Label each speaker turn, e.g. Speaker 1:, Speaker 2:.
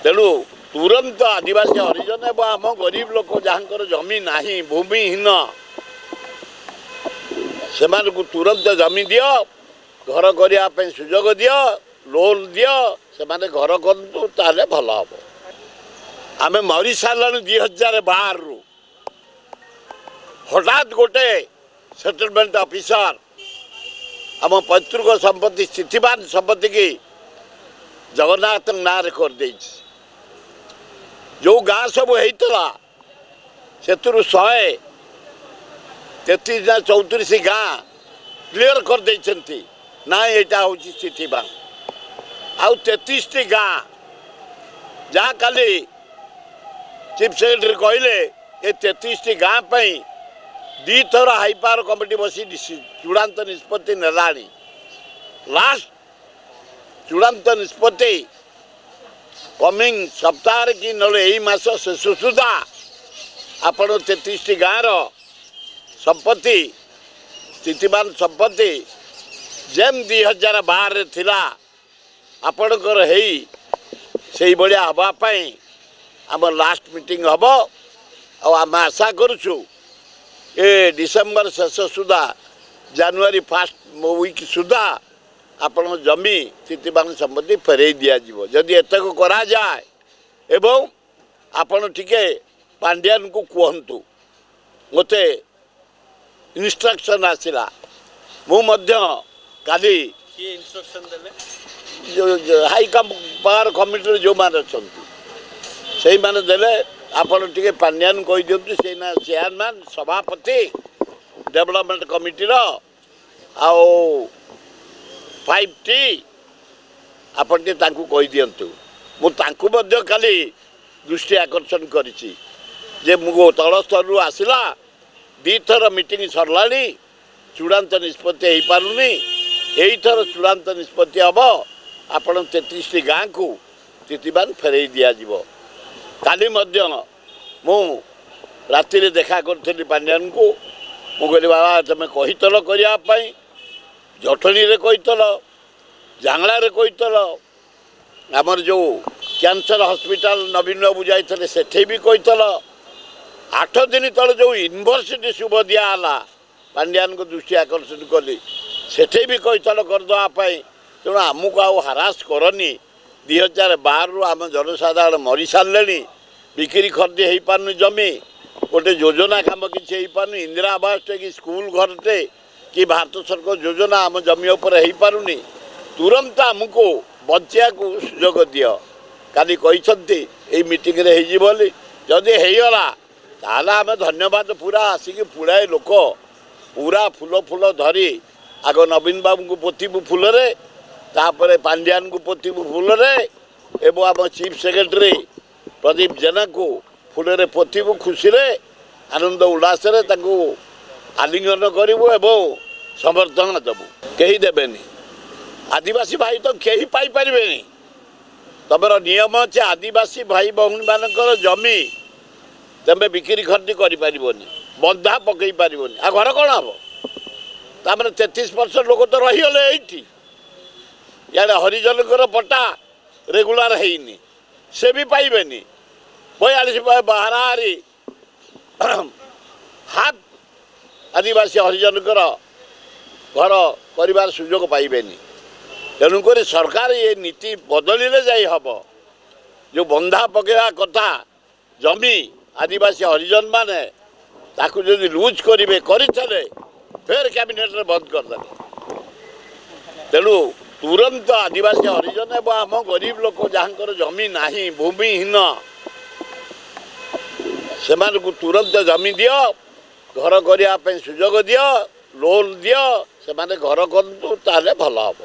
Speaker 1: ତେଣୁ ତୁରନ୍ତ ଆଦିବାସୀ ହରିଜନ ଏବଂ ଆମ ଗରିବ ଲୋକ ଯାହାଙ୍କର ଜମି ନାହିଁ, ଭୂମିହୀନ, ସେମାନଙ୍କୁ ତୁରନ୍ତ ଜମି ଦିଅ, ଘର କରିବା ପାଇଁ ସୁଯୋଗ ଦିଅ, ଲୋନ୍ ଦିଅ, ସେମାନେ ଘର କରନ୍ତୁ, ତାହେଲେ ଭଲ ହେବ। ଆମେ ମରିସାରିଲାଣି 2012ରୁ। ହଠାତ୍ ଗୋଟେ ସେଟଲମେଣ୍ଟ ଅଫିସର ଆମ ପୈତୃକ ସମ୍ପତ୍ତି, ସ୍ଥିତିବାନ ସମ୍ପତ୍ତିକି ଜଗନ୍ନାଥଙ୍କ ନାଁରେ କରିଦେଇଛି। ଯେଉଁ ଗାଁ ସବୁ ହେଇଥିଲା ସେଥିରୁ 133 ନା 34 ଗାଁ କ୍ଲିଅର କରିଦେଇଛନ୍ତି, ନା ଏଇଟା ହେଉଛି ସ୍ଥିତିବାନ। ଆଉ 33ଟି ଗାଁ ଯାହା କାଲି ଚିଫ୍ ସେକ୍ରେଟାରୀ କହିଲେ, ଏ 33ଟି ଗାଁ ପାଇଁ 2ଥର ହାଇ ପାୱାର କମିଟି ବସି ଚୂଡ଼ାନ୍ତ ନିଷ୍ପତ୍ତି ନେଲାଣି। ଲାଷ୍ଟ ଚୂଡ଼ାନ୍ତ ନିଷ୍ପତ୍ତି କମିଂ ସପ୍ତାହରେ କି ନହେଲେ ଏଇ ମାସ ଶେଷ ସୁଦ୍ଧା ଆପଣ 33ଟି ଗାଁର ସମ୍ପତ୍ତି, ସ୍ଥିତିବାନ ସମ୍ପତ୍ତି ଯେମିତି 2012ରେ ଥିଲା ଆପଣଙ୍କର ହେଇ ସେଇଭଳିଆ ହେବା ପାଇଁ ଆମ ଲାଷ୍ଟ ମିଟିଂ ହେବ। ଆଉ ଆମେ ଆଶା କରୁଛୁ ଏ ଡିସେମ୍ବର ଶେଷ ସୁଦ୍ଧା, ଜାନୁଆରୀ ଫାଷ୍ଟ ୱିକ୍ ସୁଦ୍ଧା ଆପଣଙ୍କ ଜମି, ସ୍ଥିତିବାନ ସମ୍ପତ୍ତି ଫେରାଇ ଦିଆଯିବ, ଯଦି ଏତକ କରାଯାଏ। ଏବଂ ଆପଣ ଟିକେ ପାଣ୍ଡିଆନକୁ କୁହନ୍ତୁ, ମୋତେ ଇନଷ୍ଟ୍ରକ୍ସନ୍ ଆସିଲା, ମୁଁ ମଧ୍ୟ କାଲି ହାଇ ପାୱାର କମିଟିରେ ଯେଉଁମାନେ ଅଛନ୍ତି ସେଇମାନେ ଦେଲେ, ଆପଣ ଟିକେ ପାଣ୍ଡିଆନ କହିଦିଅନ୍ତୁ, ସେଇ ନା ଚେୟାରମ୍ୟାନ୍, ସଭାପତି ଡେଭଲପମେଣ୍ଟ କମିଟିର ଆଉ 5T, ଆପଣ ଟିକେ ତାଙ୍କୁ କହିଦିଅନ୍ତୁ। ମୁଁ ତାଙ୍କୁ ମଧ୍ୟ କାଲି ଦୃଷ୍ଟି ଆକର୍ଷଣ କରିଛି ଯେ ମୁଁ ତଳ ସ୍ତରରୁ ଆସିଲା, 2ଥର ମିଟିଂ ସରିଲାଣି, ଚୂଡ଼ାନ୍ତ ନିଷ୍ପତ୍ତି ହେଇପାରୁନି, ଏଇଥର ଚୂଡ଼ାନ୍ତ ନିଷ୍ପତ୍ତି ହେବ, ଆପଣ 33ଟି ଗାଁକୁ ସ୍ଥିତିବାନ ଫେରାଇ ଦିଆଯିବ। କାଲି ମଧ୍ୟ ମୁଁ ରାତିରେ ଦେଖା କରିଥିଲି ପାଣ୍ଡିଆନକୁ। ମୁଁ କହିଲି, ବାବା, ତୁମେ କହିଥିଲ କରିବା ପାଇଁ, ଜଟଣୀରେ କହିଥିଲ, ଜାଙ୍ଗଳାରେ କହିଥିଲ, ଆମର ଯେଉଁ କ୍ୟାନ୍ସର ହସ୍ପିଟାଲ ନବୀନ ବାବୁ ଯାଇଥିଲେ ସେଠି ବି କହିଥିଲ, 8 ଦିନ ତଳେ ଯେଉଁ ୟୁନିଭର୍ସିଟି ଶୁଭ ଦିଆହେଲା ପାଣ୍ଡିଆନଙ୍କ ଦୃଷ୍ଟି ଆକର୍ଷଣ କଲି, ସେଠି ବି କହିଥିଲ କରିଦେବା ପାଇଁ। ତେଣୁ ଆମକୁ ଆଉ ହାରାସ କରନି। 2012ରୁ ଆମ ଜନସାଧାରଣ ମରିସାରିଲେଣି, ବିକ୍ରି ଖରିଦି ହେଇପାରୁନି ଜମି, ଗୋଟେ ଯୋଜନା କାମ କିଛି ହେଇପାରୁନି, ଇନ୍ଦିରା ଆବାସଟେ କି ସ୍କୁଲ ଘରଟେ କି ଭାରତ ସରକାର ଯୋଜନା ଆମ ଜମି ଉପରେ ହେଇପାରୁନି। ତୁରନ୍ତ ଆମକୁ ବଞ୍ଚିବାକୁ ସୁଯୋଗ ଦିଅ। କାଲି କହିଛନ୍ତି ଏଇ ମିଟିଂରେ ହେଇଯିବ ବୋଲି। ଯଦି ହେଇଗଲା ତାହେଲେ ଆମେ ଧନ୍ୟବାଦ, ପୁରା ଆସିକି ପୁଳାଏ ଲୋକ ପୁରା ଫୁଲ ଫୁଲ ଧରି ଆଗ ନବୀନ ବାବୁଙ୍କୁ ପୋତିବୁ ଫୁଲରେ, ତାପରେ ପାଣ୍ଡିଆନଙ୍କୁ ପୋତିବୁ ଫୁଲରେ, ଏବଂ ଆମ ଚିଫ୍ ସେକ୍ରେଟାରୀ ପ୍ରଦୀପ ଜେନାକୁ ଫୁଲରେ ପୋତିବୁ, ଖୁସିରେ ଆନନ୍ଦ ଉଲ୍ଲାସରେ ତାଙ୍କୁ ଆଲିଙ୍ଗନ କରିବୁ ଏବଂ ସମର୍ଥନ ଦେବୁ। କେହି ଦେବେନି, ଆଦିବାସୀ ଭାଇ ତ କେହି ପାଇପାରିବେନି। ତମର ନିୟମ ଅଛି ଆଦିବାସୀ ଭାଇ ଭଉଣୀମାନଙ୍କର ଜମି ତମେ ବିକ୍ରି ଖରିଦି କରିପାରିବନି, ବନ୍ଧା ପକାଇ ପାରିବନି, ଆଉ ଘର କ'ଣ ହେବ? ତାମାନେ 33% ଲୋକ ତ ରହିଗଲେ ଏଇଠି। ଇଆଡ଼େ ହରିଜନଙ୍କର ପଟ୍ଟା ରେଗୁଲାର ହେଇନି, ସେ ବି ପାଇବେନି। 42 ହାରାହାରି ହାଫ୍ ଆଦିବାସୀ ହରିଜନଙ୍କର ଘର କରିବାର ସୁଯୋଗ ପାଇବେନି। ତେଣୁକରି ସରକାର ଏ ନୀତି ବଦଳିଲେ ଯାଇ ହେବ। ଯେଉଁ ବନ୍ଧା ପକାଇବା କଥା ଜମି ଆଦିବାସୀ ହରିଜନମାନେ, ତାକୁ ଯଦି ଲୁଜ୍ କରିବେ, କରିଥିଲେ ଫେର କ୍ୟାବିନେଟ୍ରେ ବନ୍ଦ କରିଦେଲେ। ତେଣୁ ତୁରନ୍ତ ଆଦିବାସୀ ହରିଜନ ଏବଂ ଆମ ଗରିବ ଲୋକ ଯାହାଙ୍କର ଜମି ନାହିଁ, ଭୂମିହୀନ, ସେମାନଙ୍କୁ ତୁରନ୍ତ ଜମି ଦିଅ, ଘର କରିବା ପାଇଁ ସୁଯୋଗ ଦିଅ, ଲୋନ୍ ଦିଅ, ସେମାନେ ଘର କରନ୍ତୁ, ତାହେଲେ ଭଲ ହେବ।